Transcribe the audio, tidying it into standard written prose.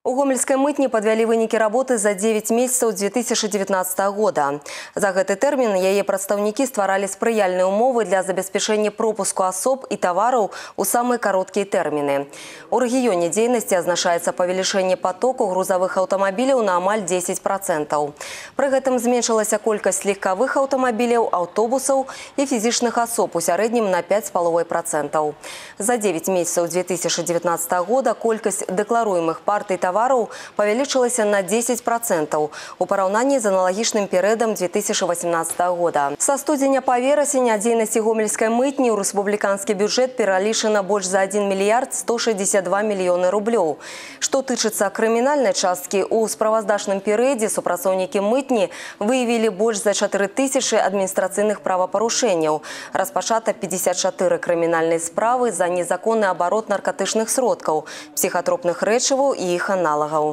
У гомельской мытні подвялі вынікі работы за 9 месяцев 2019 года. За гэты тэрмін яе прадстаўнікі стваралі спрыяльныя умовы для забеспячэння пропуску асоб і тавараў у самыя кароткія тэрміны. У рэгіёне дзейнасці азначаецца павелічэнне потоку грузавых аўтамабіляў на амаль 10%. Пры гэтым зменшылася колькасць легкавых аўтамабіляў, аўтобусаў і фізічных асоб у сярэднім на 5,5%. За 9 месяцев 2019 года колькасць дэкларуемых партый тавараў павялічылася на 10% у параўнанні з аналагічным перыядам 2018 года. Са студзеня па верасень ад дзейнасці гомельскай мытні ў рэспубліканскі бюджэт пералічана больш за 1 мільярд 162 мільёны рублёў. Што тычыцца крымінальнай часткі, у справаздачным перыядзе супрацоўнікі мытні выявілі больш за 4000 адміністрацыйных правапарушэнняў. Распачата 54 крымінальныя справы за незаконны абарот наркатычных сродкаў, псіхатропных рэчываў і іх аналагаў.